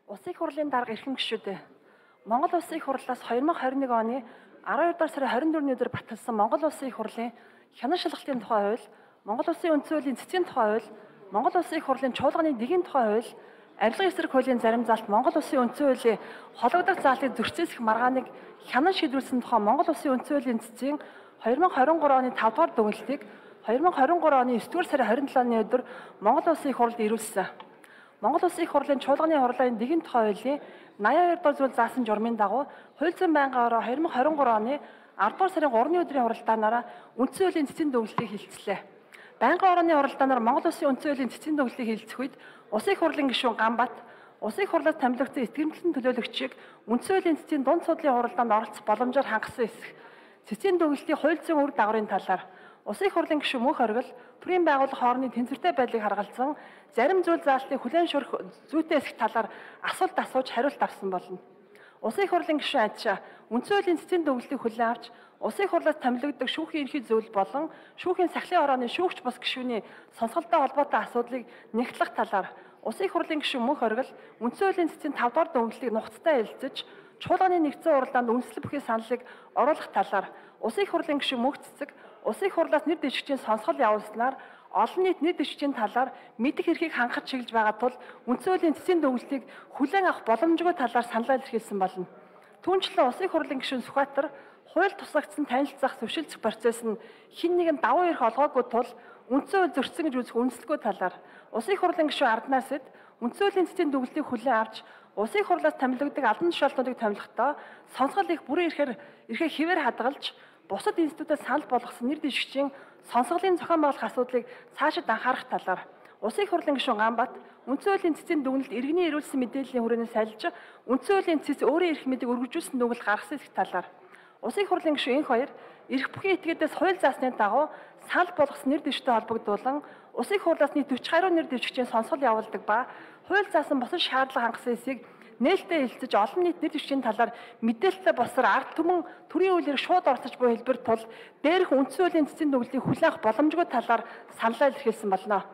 Улсын их хурлын дарга эрхэм гишүүдээ. Монгол Улсын их хурлаас 2021 оны 12 дугаар сарын 24-ний өдөр баталсан Монгол Улсын их хурлын хянан шалгалтын тухай хууль, Монгол Улсын үндсэн хуулийн цэцгийн тухай хууль, Монгол Улсын их хурлын чуулганы дэгийн тухай хууль, арилгын эсрэг хуулийн зарим заалт Монгол Улсын үндсэн хуулийн хологдох заалтыг зөрчилдөх маргааныг хянан шийдвэрлсэн тухай Монгол Улсын үндсэн хуулийн цэцгийн 2023 оны 5 дугаар дүгнэлтийг 2023 оны 9 дугаар сарын 27-ны өдөр Монгол Улсын их хурлд ирүүлсэн. Монгол Улсын их хурлын чуулганы хурлын дэгийн тухай хуулийн 82 дугаар зүйл заасан журмын дагуу хууль зүйн байнгын ороо 2023 оны 10 дугаар сарын 3-ны өдрийн хуралдаанаараа үндсэн хуулийн цэцгийн дүгнэлтийг хэлэлцлээ. Байнгын орооны хуралдаанаар Монгол Улсын үндсэн хуулийн цэцгийн дүгнэлтийг хэлэлцэх үед Улсын их хурлын гишүүн Ганбат Улсын их хурлаас томилогдсон эсгэрэмжлэн төлөөлөгчийг үндсэн хуулийн цэцгийн дунд судлалын хуралдаанд оролцох боломжоор хангасан эсэх цэцгийн дүгнэлтийн хууль зүйн үр дагаврын талаар Улсын их хурлын гишүүн Мөнх Оргил төрийн байгууллага хоорондын тэнцвэртэй байдлыг харгалзан зарим зүйл заалтыг хүлээн зөвшөөрөх зүйтэй эсэх талаар асуулт асууж хариулт авсан болно. Улсын их хурлын гишүүн Адшаа үндсэн хуулийн цэцгийн дүгнэлтийг хүлээн авч Улсын их хурлаас томилогддог шүүхийн ерхий зөвлөл болон шүүхийн сахлын орооны шүүгч бус гишүүний сонсголтой холбоотой асуудлыг нэгтлэх талаар Улсын их хурлын гишүүн Мөнх Оргил үндсэн хуулийн цэцгийн 5 дугаар дүгнэлтийг нухацтай хэлэлцэж чуулганы нэгдсэн уралдаанд үндэслэл бүхий саналыг оруулах талаар Улсын их хурлын гишүүн Мөнх Цэцэг Улсын их хурлаас нэр дэвшигчийн сонсгол явуулснаар олон нийт нэр дэвшигчийн талаар мэдэх эрхийг хангах чиглэж байгаа тул үндсэн хуулийн цэцгийн дүгнэлтийг хүлээн авах боломжгүй талаар саналаа илэрхийлсэн болно. Түүнчлэн Улсын их хурлын гишүүн Сүхбаатар хууль тусгагдсан танилцах зөвшөлдөх процесс нь хэн нэгэн давуу эрх олгоогүй тул үндсэн хууль зөрчсөн гэж үзэх үндэслэхгүй талаар Улсын их хурлын гишүүн Арднасэд үндсэн хуулийн цэцгийн дүгнэлтийг хүлээн авч Улсын их хурлаас томилогддог албан тушаалтнуудыг томилохдоо сонсгол их бүрэн эрхээр хэвээр хадгалж бусад институтад санал болгосон нэр дэвшигчийн сонсголын зохион байгуулах асуудлыг цаашид анхаарах талаар Улсын их хурлын гишүүн Ганбат үндсэн хуулийн цэцгийн дүгнэлт иргэний ирүүлсэн мэдээллийн хүрээнд сайлж үндсэн хуулийн цэц өөрийн эрх мэдийг өргөжүүлсэн дүгнэлт гаргасан эсэх талаар Улсын их хурлын гишүүн Энх Баяр эрх бүхий этгээдээс хууль заасны дагуу санал болгосон нэр дэвшигчтэй холбогдуулан Улсын их хурлаас нийт 40 гаруй нэр дэвшигчийн сонсгол явуулдаг ба хууль заасан бусад шаардлага хангасан эсийг нээлттэй хэлцэж олон нийт нэр дэвшигчийн талаар мэдээлэлтэй болсоор ард түмэн төрийн үйлээр шууд орцож буй хэлбэр тул дээрх үндсэн хуулийн цэцгийн дүгнэлтийг хүлээх боломжгүй талаар саналаа илэрхийлсэн болно.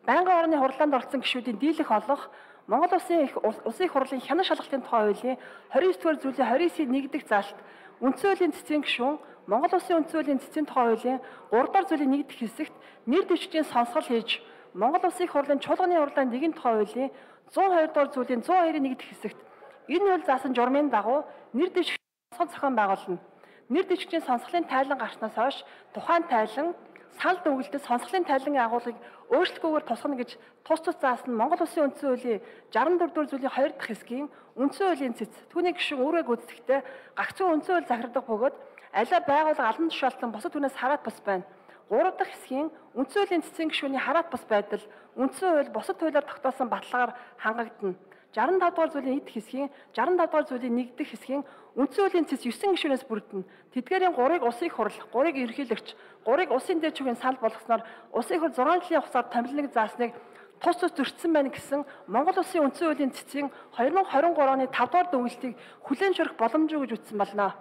Байнгын орны хурлаанд оролцсон гишүүдийн дийлэх олох Монгол Улсын их хурлын хянан шалгалтын тухай хуулийн 29 дугаар зүйлийн 29-ийн 1 дэх заалт үндсэн хуулийн цэцгийн гишүүн Монгол Улсын үндсэн хуулийн цэцгийн тухай хуулийн 3 дугаар зүйлийн 1 дэх хэсэгт нэр дэвшигчийн сонсгол хийж Монгол Улсын их хурлын чуулганы хурлаанд дэгийн тухай хуулийн 102 дугаар зүйлийн 102-ийн 1 дэх хэсэгт энэ хууль заасан журмын дагуу нэр дэвшигч сонсгол зохион байгуулна. Нэр дэвшигчийн сонсголын тайлан гарснаас хойш тухайн тайлан санал дүгнэлтэд сонсголын тайлангийн агуулгыг өөрчлөлгүйгээр тусгана гэж тус заасан Монгол Улсын үндсэн хуулийн 64 дугаар зүйлийн 2 дахь хэсгийн үндсэн хуулийн цэц түүний гишүүн өөрөө гүйцэтгэхдээ гагцхүү үндсэн хууль захирагдах бөгөөд аливаа байгууллага албан тушаалтан бусад түнээс хараат бас байна. 3 дахь хэсгийн үндсэн хуулийн цэцгийн гишүүний хараат бас байдал үндсэн хууль бусад хуулиар тогтоосон баталгаар хангагдана. 65 дугаар зүйлийн 1 дэх хэсгийн 65 дугаар зүйлийн 1 дэх хэсгийн үндсэн хуулийн цэц 9 гишүүнээс бүрдэнэ. Тэдгээрийн 3-ыг Улсын их хурл, 3-ыг ерөнхийлөгч, 3-ыг улсын дээд шүүхийн санал болгосноор Улсын их хурл 6 жилийн хугацаар томилног заасныг тус зөрчсөн байна гэсэн Монгол Улсын үндсэн хуулийн цэцгийн 2023 оны 5 дугаар дүгнэлтийг хүлээн зөвшөөрөх боломжгүй гэж үзсэн болно.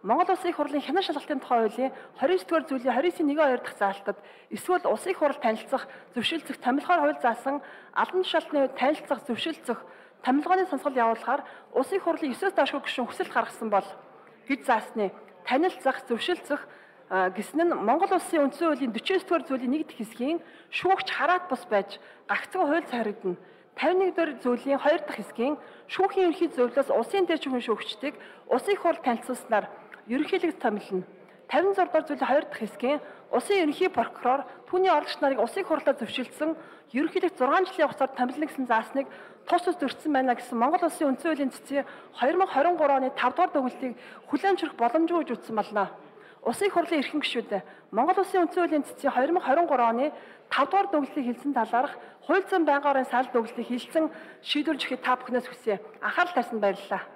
Монгол Улсын их хурлын хянан шалгалтын тухай хуулийн 29 дугаар зүйлийн 29-ийн 1-2 дахь заалтад эсвэл Улсын их хурл танилцах, зөвшөлдсөх, томилгоор хууль заасан албан тушаалтны үед танилцах, зөвшөлдсөх, томилгооны сонсгол явуулахаар Улсын их хурлын 9-өөс доошгүй гишүүн хүсэлт гаргасан бол гэж заасны танилцах, зөвшөлдсөх гэсэн нь Монгол Улсын үндсэн хуулийн 49 дугаар зүйлийн 1 дэх хэсгийн шүүгч хараат бус байж гагцхүү хууль захирагдана. 51 дугаар зүйлийн 2 дахь хэсгийн шүүхийн ерхий зөвлөлөөс улсын дээд шүүхийн шүүгчдийг Улсын их хурл танилцуулснаар ерөнхийлөгч томилно. 56 дугаар зүйлийн 2 дахь хэсгийн улсын ерөнхий прокурор түүний орлогч нарыг Улсын их хурлаар зөвшөөрсөн ерөнхийлөгч 6 жилийн хугацаар томилно гэсэн заасныг тус зөрчсөн байна гэсэн Монгол Улсын үндсэн хуулийн цэцгийн 2023 оны 5 дугаар дүгнэлтийг хүлээн зөвшөөрөх боломжгүй гэж үзсэн болно. Улсын их хурлын эрхэм гишүүд Монгол Улсын үндсэн хуулийн цэцгийн 2023 оны 5 дугаар дүгнэлтийг хэлсэн талаарх хууль зүйн байнгын орон санал дүгнэлтийг хэлсэн шийдвэрлэж өгөхийг та бүхнээс хүсье. Анхаарал тавьсанд баярлалаа.